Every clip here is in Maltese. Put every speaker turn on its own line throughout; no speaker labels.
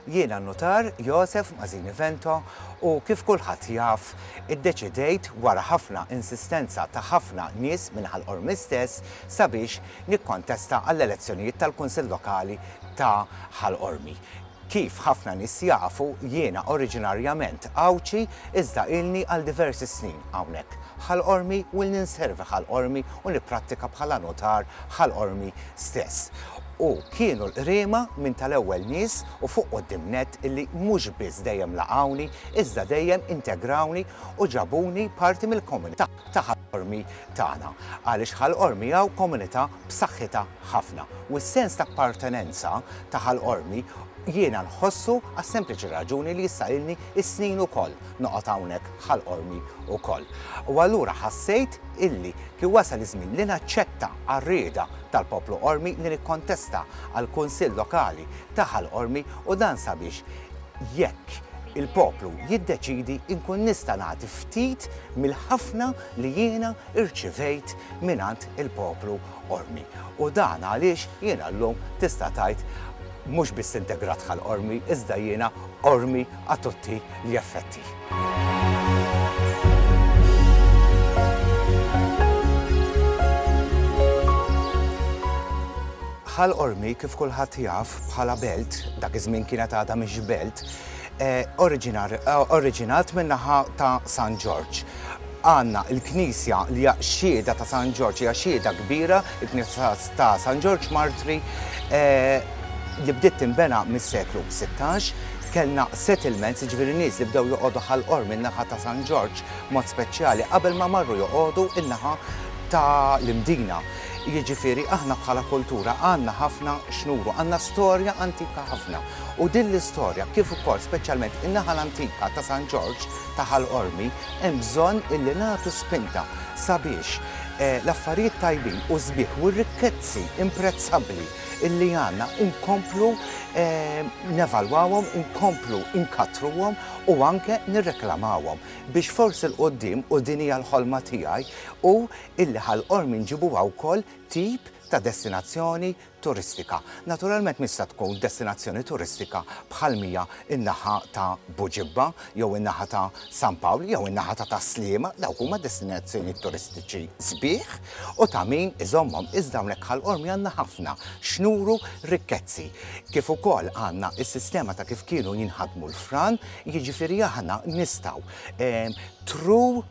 Jiena n-Nutar Josef Mazzini Vento u kif kulħadd jaf iddeċidejt wara ħafna insistenza ta' ħafna nies minn Ħal Qormi stess sabiex nikkontesta għall-elezzjonijiet tal-Kunsill Lokali ta' Ħal Qormi. Kif ħafna nies jafu jiena oriġinarjament Għawdxi iżda ilni għal diversi snin hawnhekk Ħal Qormi u ilni nservi Ħal Qormi u nipprattika bħala nutar Ħal Qormi stess. U kienu l-Qriema minn tal-ewwel nies u fuq quddiem nett illi mhux biss dejjem laqgħuni iżda dejjem integrawni u ġabuni parti mill-komunità ta' Ħal Qormi tagħna. Għaliex Ħal Qormi hawn komunità b'saħħitha ħafna u s-sens ta' appartenenza ta' Ħal Qormi jiena nħossu għas-sempliċi raġuni li issa ilni s-snin ukoll noqgħod hawnhekk Ħal Qormi ukoll. U allura ħassejt illi kien wasal iż-żmien li naċċetta għar-rieda tal-poplu Qormi li nikkontesta għall-Kunsill Lokali ta' Ħal Qormi u dan sabiex jekk il-poplu jiddeċiedi nkun nista' nagħti ftit mill-ħafna li jiena rċivejt mingħand il-poplu Qormi. U dan għaliex jiena llum tista' tgħid mhux biss integrat Ħal Qormi iżda jiena Qormi a tutti gli effetti. Ħal Qormi kif kulħadd jaf bħala belt, dak iż-żmien kienet għadha mhix belt, eh, oriġinat min-naħa ta' San Ġorġ. Għandna l-knisja li hija xhieda ta' San Ġorġ, hija xhieda kbira, il-knisja ta' San Ġorġ Martri, eh, li bdiet tinbena mis-seklu 16, kellna settlements, jiġifieri nies li bdew joqogħdu Ħal Qormi n-naħa ta' San Ġorġ mod speċjali qabel ma marru joqogħdu n-naħa ta' l-Imdina. Jiġifieri aħna bħala kultura għandna ħafna x'nuru, għandna storja antika ħafna. U din l-istorja kif ukoll speċjalment in-naħa l-antika ta' San Ġorġ ta' Ħal Qormi hemm bżonn illi nagħtu spinta sabiex l-affarijiet tajbin u sbieħ u r-rikkezzi imprezzabbli illi għandna nkomplu nevalwawhom, inkomplu nkattruhom u anke nirreklamawhom biex forsi 'l quddiem, u din hija l-ħolma tiegħi, hu illi Ħal Qormi nġibuha wkoll tip ta' destinazzjoni turistika. Naturalment mhix se tkun destinazzjoni turistika bħal m'hija n-naħa ta' Buġibba jew in-naħa ta' San Pawl jew in-naħa ta' Tas-Sliema, dawk huma destinazzjonijiet turistiċi sbieħ u ta' min iżommhom. Iżda hawnhekk Ħal Qormi għandna ħafna x'nuru rikkezzi. Kif ukoll għandna s-sistema ta' kif kienu jinħadmu l-fran, jiġifieri aħna nistgħu through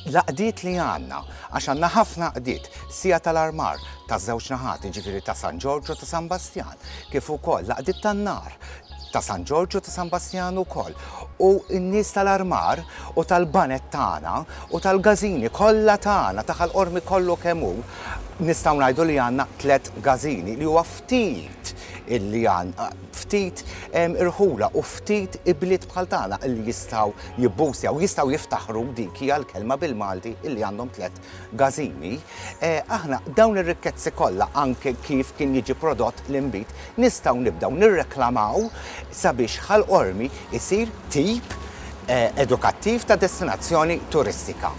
l-għaqdiet li għandna, għax għandna ħafna għaqdiet, sija tal-armar taż-żewġ naħat, jiġifieri ta' San Ġorġ u ta' San Bastjan, kif ukoll l-għaqdiet tan-nar ta' San Ġorġ u ta' San Bastjan ukoll, u n-nies tal-armar u tal-baned tagħna u tal-gażini kollha tagħna, ta' Ħal Qormi kollu kemm hu, nistgħu ngħidu li għandna tlett gażini li huwa ftit illi għandna, ftit irħula u ftit ibliet bħal tagħna illi jistgħu jibboostjaw, jistgħu jiftaħru, dik hija l-kelma bil-Malti, illi għandhom tlett gażini. Aħna dawn ir-rikkezzi kollha anke kif kien jiġi prodott l-inbid nistgħu nibdew nirreklamaw sabiex Ħal Qormi jsir tip edukattiv ta' destinazzjoni turistika.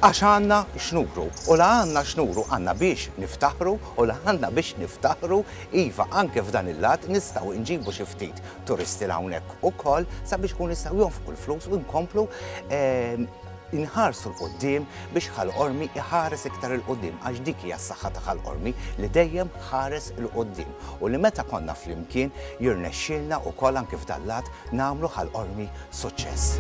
Għax għandna x'nuru. U la għandna x'nuru għandna biex niftaħru u la għandna biex niftaħru, iva anke f'dan il-lat nistgħu nġibu xi ftit turisti 'l hawnhekk ukoll sabiex ikunu jistgħu jonfqu l-flus u nkomplu nħarsu 'l quddiem biex Ħal Qormi jħares iktar 'il quddiem għax dik hija s-saħħa ta' Ħal Qormi li dejjem ħares 'il quddiem u li meta konna flimkien jirnexxielna wkoll anke f'dan l-lat nagħmlu Ħal Qormi suċċess.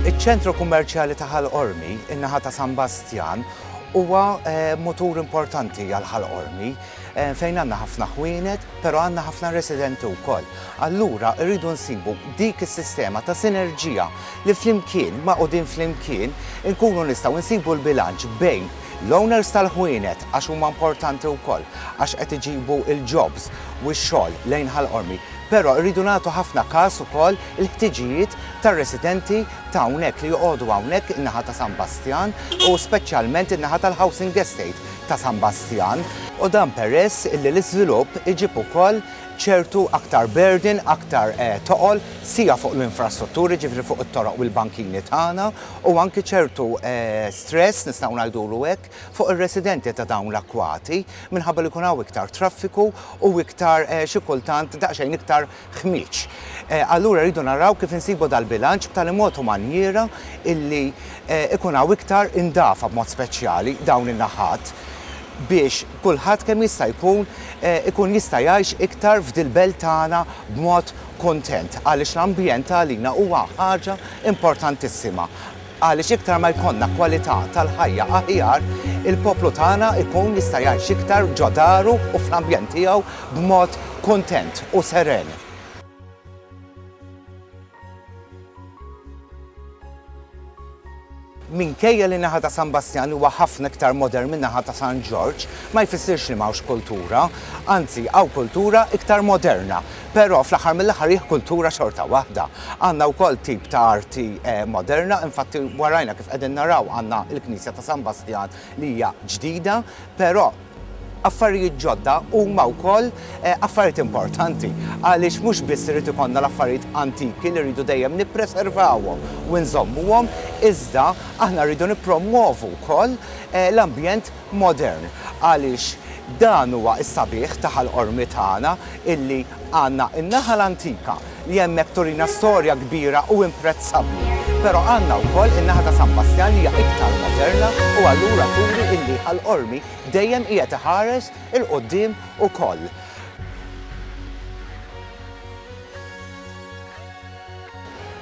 Iċ-ċentru kummerċjali ta' Ħal Qormi, in-naħa ta' San Bastjan, huwa eh, mutur importanti għal Ħal Qormi eh, fejn għandna ħafna ħwienet, però għandna ħafna residenti wkoll. Allura rridu nsibu dik is-sistema ta' sinerġija li flimkien, magħqudin flimkien, inkunu nistgħu nsibu l-bilanċ bejn L-owners tal-ħwienet għax huma importanti wkoll għax qed iġibu l-jobs u x-xogħol lejn Ħal Qormi, però rridu nagħtu ħafna każ ukoll il-ħtiġijiet tar-residenti ta' hawnhekk li joqogħdu hawnhekk in-naħa ta' San Bastjan u speċjalment in-naħa tal-housing estate ta' San Bastjan u dan peress illi l-iżvilupp iġib ukoll ċertu aktar burden, aktar toqol, sija fuq l-infrastrutturi, ġifieri fuq it-toroq u l-bankini tagħna, u anki ċertu stress, nistgħu ngħidulu hekk, fuq ir-residenti ta' dawn l-akkwati, minħabba li jkun hawn iktar traffiku u iktar xi kultant daqsxejn iktar ħmieġ. Allura rridu naraw kif insibu dal-bilanċ b'tali mod u manjiera illi ikun hawn iktar indafa b'mod speċjali dawn in-naħat biex kulħadd kemm jista' jkun ikun jista' jgħix iktar f'dil-belt tagħna b'mod kuntent għaliex l-ambjent għalina huwa ħaġa importantissima għaliex iktar ma jkollna kwalità tal-ħajja aħjar, il-poplu tagħna jkun jista' jgħix iktar ġo daru u fl-ambjent tiegħu b'mod kuntent u seren. Minkejja li n-naħa ta' San Bastjan huwa ħafna iktar modern min-naħa ta' San Ġorġ, ma jfissirx li m'hawnx kultura. Anzi, hawn kultura iktar moderna. Però fl-aħħar mill-aħħar hi kultura xorta waħda. Għandna wkoll tip ta' arti moderna, infatti warajna kif qegħdin naraw għandna l-knisja ta' San Bastjan li hija ġdida, però affarijiet ġodda huma wkoll affarijiet importanti għaliex mhux biss irid ikollna l-affarijiet antiki li rridu dejjem nippreservawhom u nżommuhom iżda aħna rridu nippromwovu wkoll l-ambjent modern għaliex dan huwa s-sabiħ ta' Ħal Qormi tagħna illi għandna n-naħa l-antika li hemmhekk turina storja kbira u imprezzabbli, però għandna wkoll in-naħa ta' San Bastjan li hija iktar moderna u allura turi illi Ħal Qormi dejjem qiegħed iħares 'il quddiem ukoll.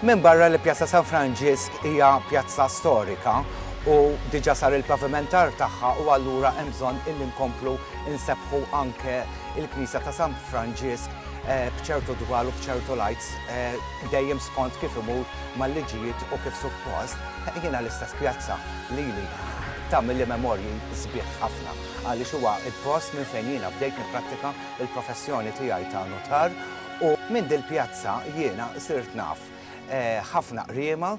Minbarra li Pjazza San Franġisk hija pjazza storika u diġà sar il-pavimentar tagħha u allura hemm bżonn illi nkomplu nsebbħu anke l-knisja ta' San Franġisk b'ċertu dwal u b'ċertu lights dejjem skont kif imur mal-liġijiet u kif suppost, jiena l-istess pjazza lili tagħmilli memorji sbieħ ħafna għaliex huwa l-post minn fejn jiena bdejt nipprattika l-professjoni tiegħi ta' nutar u minn dil-pjazza jiena sirt naf ħafna qriema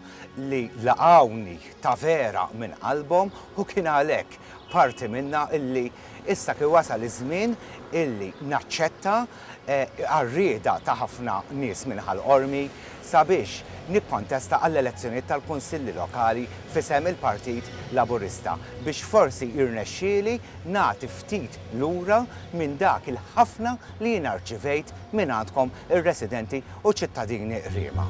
li laqgħuni ta' vera minn qalbhom u kien għalhekk parti minnha illi issa kien wasal iż-żmien illi naċċetta għar-rieda ta' ħafna nies minn Ħal Qormi sabiex nikkontesta għall-elezzjonijiet tal-Kunsilli Lokali f'isem il-Partit Laburista biex forsi jirnexxieli nagħti ftit lura minn dak il-ħafna li jiena rċivejt mingħandkom ir-residenti u ċittadini Qriema.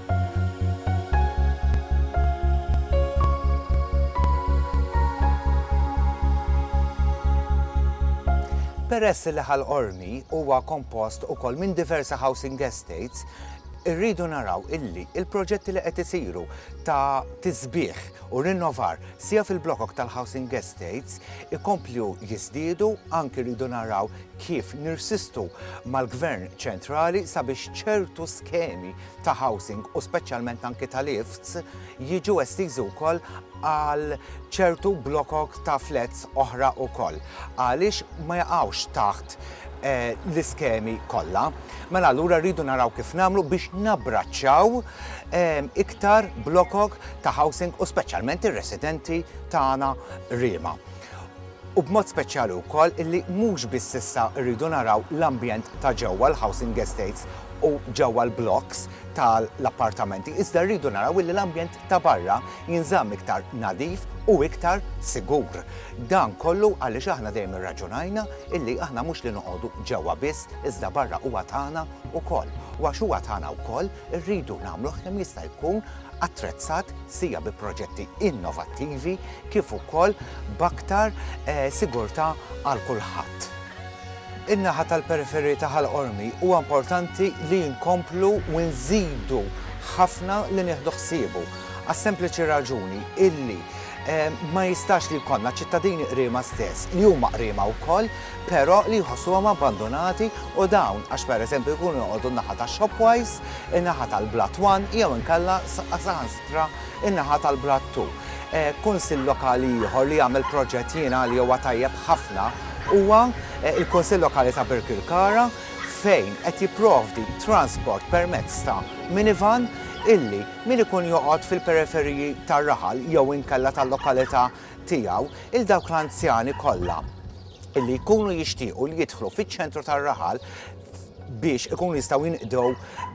Peress li Ħal Qormi huwa kompost ukoll minn diversi housing estates, irridu naraw illi il-proġetti li qed isiru ta' tisbiħ u rinnovar sia fil-blokok tal-housing estates ikomplu jiżdiedu, anki rridu naraw kif nirsistu mal-Gvern ċentrali sabiex ċertu skemi ta' housing u speċjalment anki ta' lifts jiġu estiżi wkoll għal ċertu blokok ta' flats oħra wkoll għaliex ma jaqgħux taħt l-iskemi kollha. Mela allura rridu naraw kif nagħmlu biex nabbraċċaw iktar blokok ta' housing u speċjalment ir-residenti tagħna Riema. U b'mod speċjali wkoll illi mhux biss issa rridu naraw l-ambjent ta' ġewwa l-housing estates u ġewwa l-blocks tal-appartamenti, iżda rridu naraw illi l-ambjent ta' barra jinżamm iktar nadif u iktar sigur. Dan kollu għaliex aħna dejjem irraġunajna illi aħna mhux li noqogħdu ġewwa biss iżda barra huwa tagħna wkoll. U għax huwa tagħna wkoll irridu nagħmluh kemm jista' jkun attrezzat sia bi proġetti innovattivi kif ukoll b'aktar sigurtà għal kulħadd. In-naħa tal-periferiji ta' Ħal Qormi huwa importanti li nkomplu u nżidu ħafna li nieħdu ħsiebu għas-sempliċi raġuni illi ma jistax li jkollna ċittadini Qriema stess li huma Qriema wkoll però li jħossuhom abbandunati u dawn għax pereżempju jkunu joqogħdu n-naħa ta' Shopwise, in-naħa tal-Blat One jew inkella saħansitra in-naħa tal-Blat Two. Kunsill Lokali ieħor li għamel proġett jiena li huwa tajjeb ħafna huwa l-Kunsill Lokali ta' Birkirkara fejn qed jipprovdi transport permezz ta' minivan illi min ikun joqgħod fil-periferiji tar-raħal jew inkella tal-lokalità tiegħu 'il dawk l-anzjani kollha illi jkunu jixtiequ li jidħlu fiċ-ċentru tar-raħal. biex ikunu jistgħu jinqdew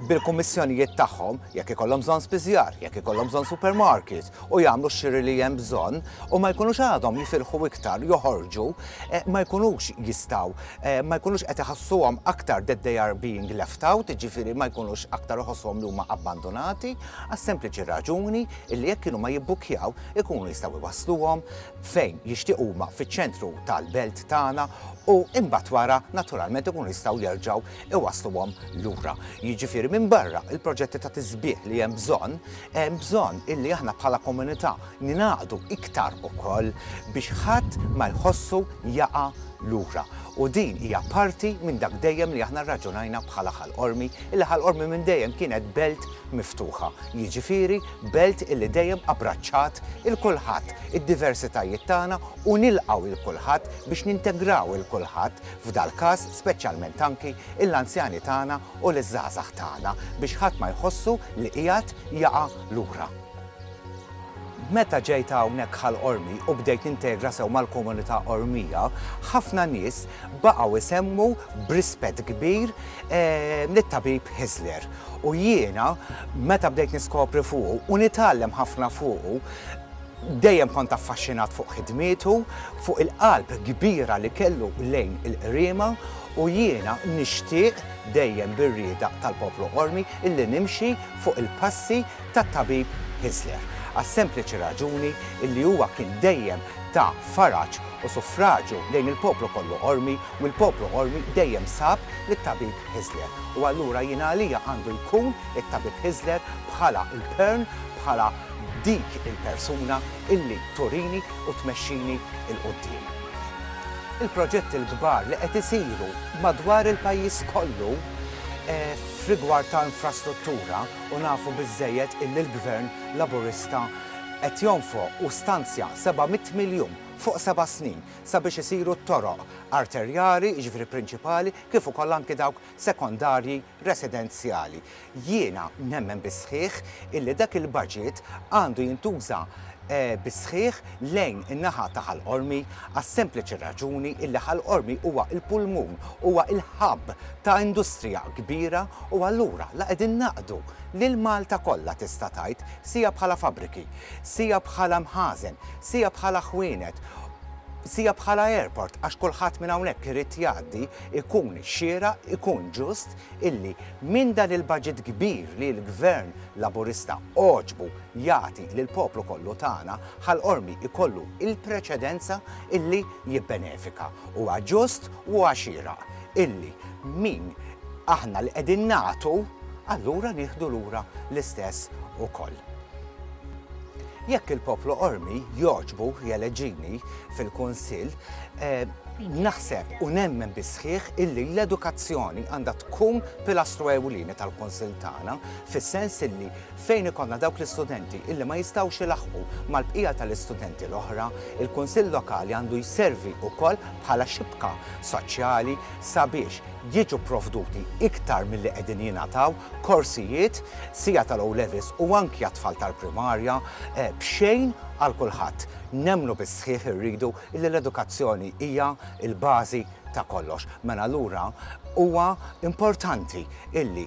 bil-kummissjonijiet tagħhom jekk ikollhom bżonn spiżjar, jekk ikollhom bżonn supermarket u jagħmlu x-xiri li hemm bżonn u ma jkunux għadhom jifilħu iktar joħorġu, eh, ma jkunux jistgħu, eh, ma jkunux qed iħassuhom aktar that they are being left out, jiġifieri ma jkunux aktar iħossuhom li huma abbandonati, għas-sempliċi raġuni illi jekk kienu ma jibbukjaw ikunu jistgħu iwassluhom fejn jixtiequ huma fiċ-ċentru tal-belt tagħna u imbagħad wara naturalment ikunu jistgħu jerġgħu iwassluhom lura. Jiġifieri minbarra il-proġetti ta' tisbiħ li hemm bżonn, hemm bżonn illi aħna bħala komunità ningħaqdu iktar ukoll biex ħadd ma jħossu jaqa' lura. U din hija parti minn dak dejjem li aħna rraġunajna bħala Ħal Qormi, illi Ħal Qormi minn dejjem kienet belt miftuħa, jiġifieri belt illi dejjem abbraċċat 'il kulħadd, id-diversitajiet tagħna u nilqgħu 'il kulħadd biex nintegraw 'il kulħadd, f'dal-każ speċjalment anki l-anzjani tagħna u liż-żgħażagħ tagħna biex ħadd ma jħossu li qiegħed jaqa' lura. Meta ġejt hawnhekk Ħal Qormi u bdejt nintegra sew mal-komunità Qormija, ħafna nies baqgħu jsemmu b'rispett kbir lit-tabib Hyzler. U jiena meta bdejt niskopri fuqu u nitgħallem ħafna fuqu, dejjem kont affaxxinat fuq ħidmietu, fuq il-qalb kbira li kellu lejn il-Qriema u jiena nixtieq dejjem bir-rieda tal-poplu Qormi illi nimxi fuq il-passi tat-tabib Hyzler, għas-sempliċi raġuni illi huwa kien dejjem ta' faraġ u suffraġju lejn il-poplu kollu Qormi u l-poplu Qormi dejjem sab lit-tabib Hyzler. U allura jien għalija għandu jkun it-tabib Hyzler bħala l-pern, bħala dik il-persuna illi turini u tmexxini 'l quddiem. Il-proġetti l-kbar li qed isiru madwar il-pajjiż kollu f'rigward ta' infrastruttura, u nafu biżżejjed illi l-Gvern Laburista qed jonfoq u stanzja 700 miljun fuq seba' snin sabiex isiru t-toroq arterjali, jiġifieri prinċipali, kif ukoll anki dawk sekondarji residenzjali. Jiena nemmen bis-sħiħ illi dak il-baġit għandu jintuża bis-sħiħ lejn in-naħa ta' Ħal Qormi għas-sempliċi raġuni illi Ħal Qormi huwa l-pulmun, huwa l-hub ta' industrija kbira u allura la qegħdin naqdu lil Malta kollha tista' tgħid, sija bħala fabbriki, sija bħala mħażen, sija bħala ħwienet, sija bħala airport għax kulħadd minn hawnhekk irid jgħaddi, ikun xieraq, ikun ġust illi minn dan il-baġit kbir li l-Gvern Laburista għoġbu jagħti lill-poplu kollu tagħna, Ħal Qormi jkollu l-preċedenza illi jibbenefika. Huwa ġust u huwa xieraq illi min aħna li qegħdin nagħtu, allura nieħdu lura l-istess ukoll. Jekk il-poplu Qormi jogħġbu jeleġġini fil-Kunsill, naħseb u nemmen bis-sħiħ illi l-edukazzjoni għandha tkun pilastru ewlieni tal-Kunsill tagħna, fis-sens illi Fejn ikollna dawk l-istudenti illi ma jistgħux ilaħħqu mal-bqija tal-istudenti l-oħra, il-Kunsill Lokali għandu jservi wkoll bħala xibka soċjali sabiex jiġu pprovduti iktar milli qegħdin jingħataw korsijiet sija tal-O Levels u anki għat-tfal tal-primarja b'xejn għal kulħadd. Nemmnu bis-sħiħ irridu illi l-edukazzjoni hija l-bażi ta' kollox. Mela allura huwa importanti illi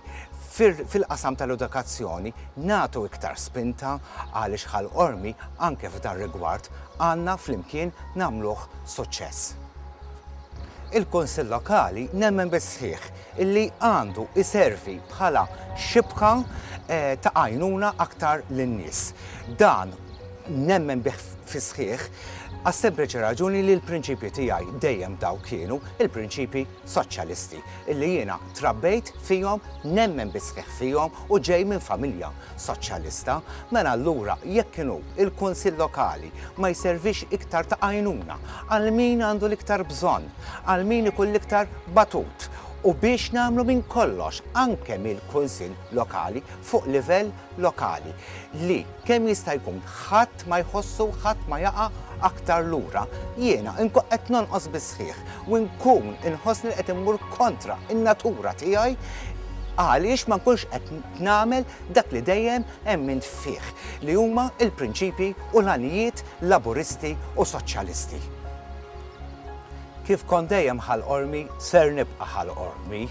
fil-qasam tal-edukazzjoni nagħtu iktar spinta għaliex Ħal Qormi anke f'dan rigward għandna flimkien nagħmluh suċċess. Il-Kunsill Lokali nemmen bis-sħiħ illi għandu jservi bħala xibka ta' għajnuna aktar lin-nies. Dan nemmen bih fis-sħiħ għas-sempliċi raġuni li l-prinċipji tiegħi dejjem dawk kienu, il-prinċipji soċjalisti, illi jiena trabbejt fihom, nemmen bis-sħiħ fihom u ġej minn familja soċjalista. Mela allura jekk inhu l-Kunsill Lokali ma jservix iktar ta' għajnuna għal min għandu l-iktar bżonn, għal min ikun l-iktar batut u biex nagħmlu minn kollox anke mill-Kunsill Lokali fuq livell lokali li kemm jista' jkun ħadd ma jħossu, ħadd ma jaqa' aktar lura, jiena nkun qed nonqos bis-sħiħ u nkun inħossni li qed immur kontra n-natura tiegħi għaliex ma nkunx qed nagħmel dak li dejjem emmint fih, li huma l-prinċipji u l-għanijiet Laburisti u Soċjalisti. Kif kont dejjem Ħal Qormi, ser nibqa' Ħal Qormi.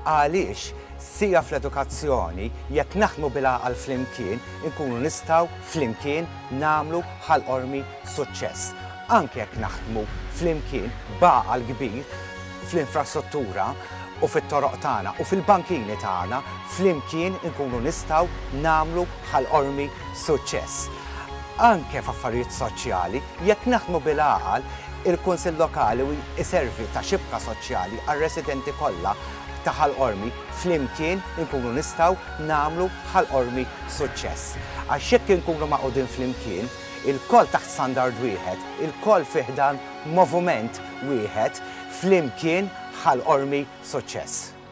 Għaliex sija fl-edukazzjoni, jekk naħdmu bil-għaqal flimkien, inkunu nistgħu flimkien nagħmlu Ħal Qormi suċċess. Anke jekk naħdmu flimkien b'għaqal kbir fl-infrastruttura u fit-toroq tagħna u fil-bankini tagħna, flimkien inkunu nistgħu nagħmlu Ħal Qormi suċċess. Anke f'affarijiet soċjali, jekk naħdmu bil-għaqal, il-Kunsill Lokali jservi ta' xibka soċjali għar-residenti kollha ta' Ħal Qormi, flimkien inkunu nistgħu nagħmlu Ħal Qormi suċċess. Għax jekk inkunu magħqudin flimkien, ilkoll taħt standard wieħed, ilkoll fi ħdan moviment wieħed, flimkien Ħal Qormi suċċess.